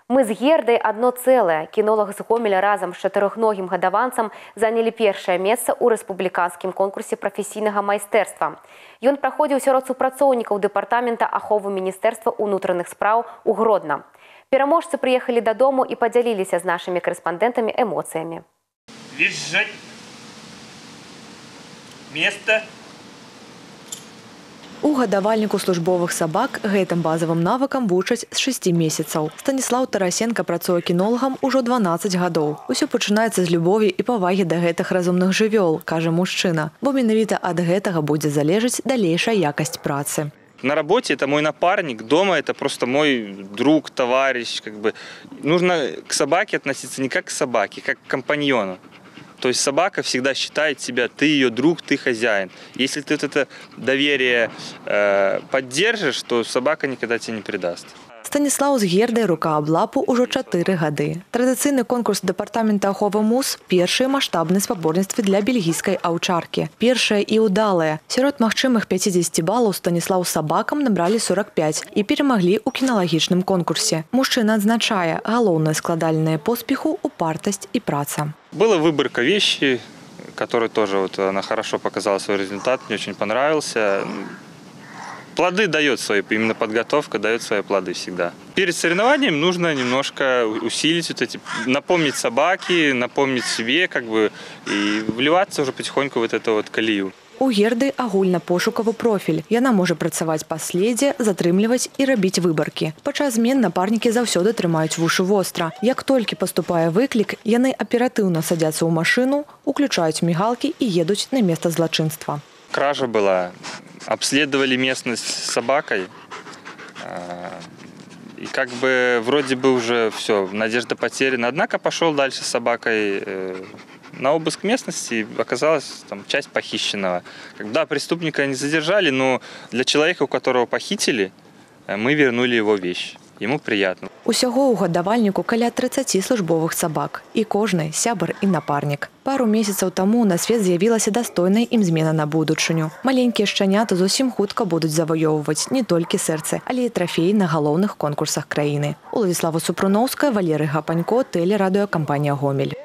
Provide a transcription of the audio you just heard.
Мы з Гердай одно целое. Кинолог з Гомеля разом з чатырохногім гадаванцам занялі першае месца ў рэспубліканскім конкурсе прафесійнага майстэрства. Ён праходзіў сярод супрацоўнікаў дэпартамента аховы Міністэрства ўнутраных спраў у Гродна. Пераможцы прыехалі дадому і падзяліліся з нашымі корэспандэнтамі эмоцыямі. Визжать. Место. У гадавальніку службовых сабак гэтым базавым навыкам вучаць з 6 месяцаў. Станіслаў Тарасенко працуе кінолагам ужо 12 гадоў. Усё пачынаецца з любові і павагі да гэтых разумных жывёл, кажа мужчына. Бо менавіта ад гэтага будзе залежаць далейшая якасць працы. На работе это мой напарник, дома это просто мой друг, товарищ. Нужно к собаке относиться не как к собаке, как к компаньону. То есть собака всегда считает себя, ты ее друг, ты хозяин. Если ты это доверие поддержишь, то собака никогда тебе не предаст. Станіслаў з Гердай рука аб лапу ўжо 4 гады. Традыцыйны конкурс дэпартамента аховы МУС – першыя маштабныя спаборніцтвы для бельгійскай аўчаркі. Першае і ўдалае. Сярод магчымых 50 балаў Станіслаў з сабакам набралі 45 і перамаглі ў кіналагічным конкурсе. Мужчына адзначае, галоўнае складальнае поспеху – упартасць і праца. Была выборка вещи, которая тоже она хорошо показала свой результат, мне очень понравился. Плоды дает свои, именно подготовка дает свои плоды всегда. Перед соревнованием нужно немножко усилить напомнить собаке, напомнить себе, и вливаться уже потихоньку в эту колею. У Герды агульнапошукавы профіль. Яна можа працаваць па следзе, затрымліваць і рабіць выбаркі. Падчас змен напарнікі заўсёды трымаюць вушы востра. Як толькі паступае выклік, яны аператыўна садзяцца ў машыну, уключаюць мігалкі і едуць на месца злачынства. Кража была. Обследовали местность с собакой. И вроде бы уже все, надежда потеряна. Однако пошел дальше с собакой на обыск местности. Оказалась там часть похищенного. Когда преступника не задержали, но для человека, у которого похитили, мы вернули его вещь. Ему приятно. Усяго ў гадавальніку каля 30 службовых сабак. І кожны сябар і напарнік. Пару месяцаў таму на свет з'явілася дастойная ім змена на будучыню. Маленькія шчаняты зусім хутка будуць заваёўваць не толькі сэрцы, але і трафеі на галоўных конкурсах краіны. Уладзіслава Супруноўская, Валерый Гапанько, тэлерадыёкампанія «Гомель».